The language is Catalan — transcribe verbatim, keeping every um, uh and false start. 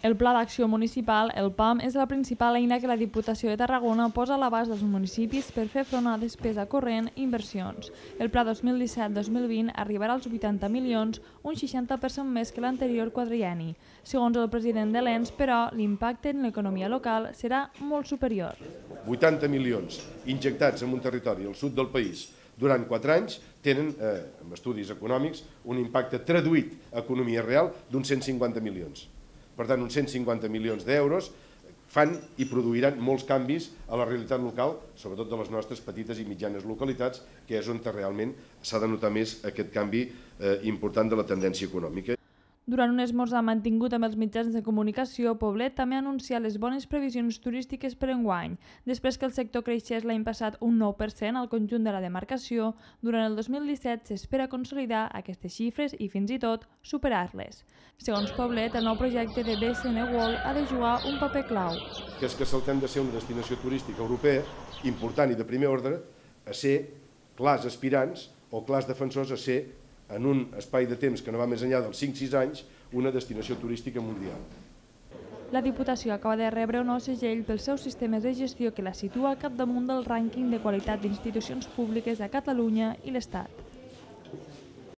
El Pla d'Acció Municipal, el P A M, és la principal eina que la Diputació de Tarragona posa a l'abast dels municipis per fer front a despesa corrent i inversions. El Pla dos mil disset dos mil vint arribarà als vuitanta milions, un seixanta per cent més que l'anterior quadrienni. Segons el president de l'E N S, però, l'impacte en l'economia local serà molt superior. vuitanta milions injectats en un territori al sud del país durant quatre anys tenen, eh, amb estudis econòmics, un impacte traduït a economia real d'uns cent cinquanta milions. Per tant, uns cent cinquanta milions d'euros fan i produiran molts canvis a la realitat local, sobretot de les nostres petites i mitjanes localitats, que és on realment s'ha de notar més aquest canvi eh, important de la tendència econòmica. Durant un esmorzar mantingut amb els mitjans de comunicació, Poblet també ha anunciat les bones previsions turístiques per enguany. Després que el sector creixés l'any passat un nou per cent al conjunt de la demarcació, durant el dos mil disset s'espera consolidar aquestes xifres i fins i tot superar-les. Segons Poblet, el nou projecte de B S N World ha de jugar un paper clau. Que és que saltem de ser una destinació turística europea important i de primer ordre a ser clars aspirants o clars defensors a ser, en un espai de temps que no va més enllà dels cinc sis anys, una destinació turística mundial. La Diputació acaba de rebre un nou segell pels seus sistemes de gestió que la situa al capdamunt del rànquing de qualitat d'institucions públiques a Catalunya i l'Estat.